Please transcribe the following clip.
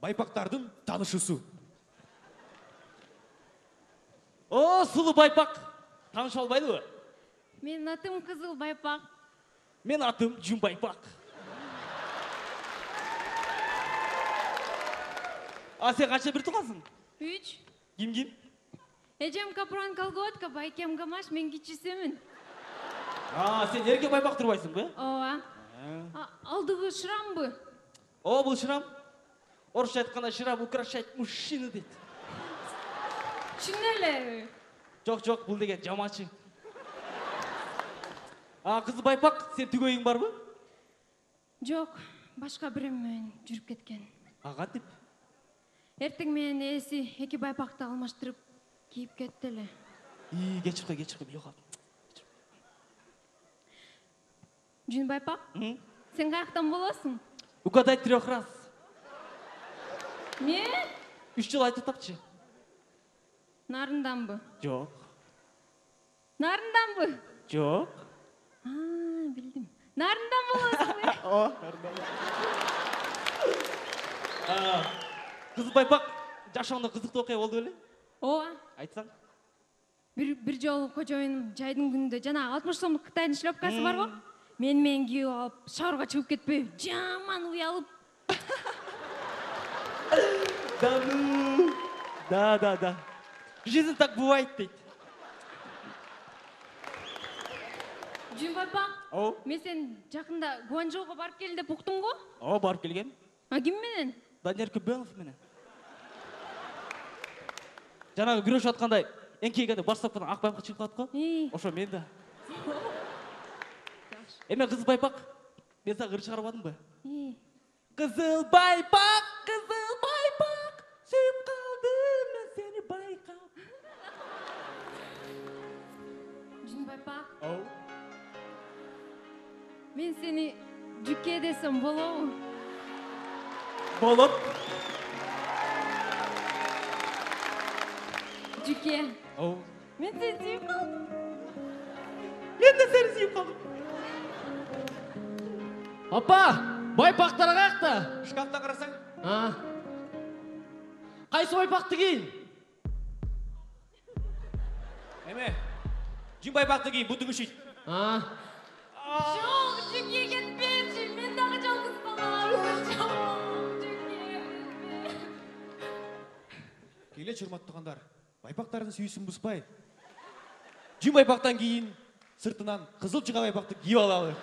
байпактардын таанышуусу. О, сулуу байпак. Тааныша албайлыбы? Менин атым Кызыл Байпак. Мен атым Жун Байпак. А сен канча бир туугансың? 3. Ким? Эжем Капран Колготка, байкем Гамаш, мен кичисимин. Сен эрке байпак турбайсыңбы? Ооба. Алдыбы шырамбы? О, бул шырам. Орусча айтканда шырам украшать мужчину дейт. Чын эле? Жок, бул деген жамачы. Кызыл байпак, сен түгөйүң барбы? Жок, башка бирөө менен жүрүп кеткен. Кантип? Эртең менен ээси эки байпакты алмаштырып кийип кетти эле. Кечирип кой, бийок. Жун Байпак? Сен каяктан болосуң? Угадай 3 раз. Мен? 3 жыл айтып тапчы. Нарынданбы? Жок. Нарынданбы? Жок. Билдим. Нарындан болосуңбу? О, нарындан. Кызыл байпак, жашооңдо кызыктуу окуя болду беле? Ооба. Айтсаң. Бир жолу кожоюнум жайдын күнүндө жана 60 сомдук Кытайдын шлёпкасы барбы? Мен кийип алып, шаарга чыгып кетпей, жаман уялып. Да. Жизнь так бывает, дейт. Жун Байпак? Мен сен жакында Гуанчжоуга барып келдим деп уктум го? Барып келген. Ким менен? Данияр Көбөнов менен. Жанагы күрөшүп аткандай, эңкейгенде баш сапкадан ак байпак чыгып калат го? Ошо мен да. Эме Кызыл Байпак, мен сага ыр чыгарбадымбы? Кызыл Байпак, сүйүп калдым мен сени байкап. Жун Байпак? Мен сени Жуке десем болобу? Болот. Жуке. Мен сени сүйүп калдым. Мен да сени сүйүп калдым. Апа, байпактар каякта? Шкафтан карасаң? Кайсы байпакты кийин? Эме? Жун байпакты кийин, бутуң ишит. Жок, Жуке кетпечи, мен дагы жалгыз калам. Келе урматтуугандар, байпактардын сүйүүсүн бузбай. Жун байпактан кийин сыртынан кызыл жыга байпакты кийип алалы.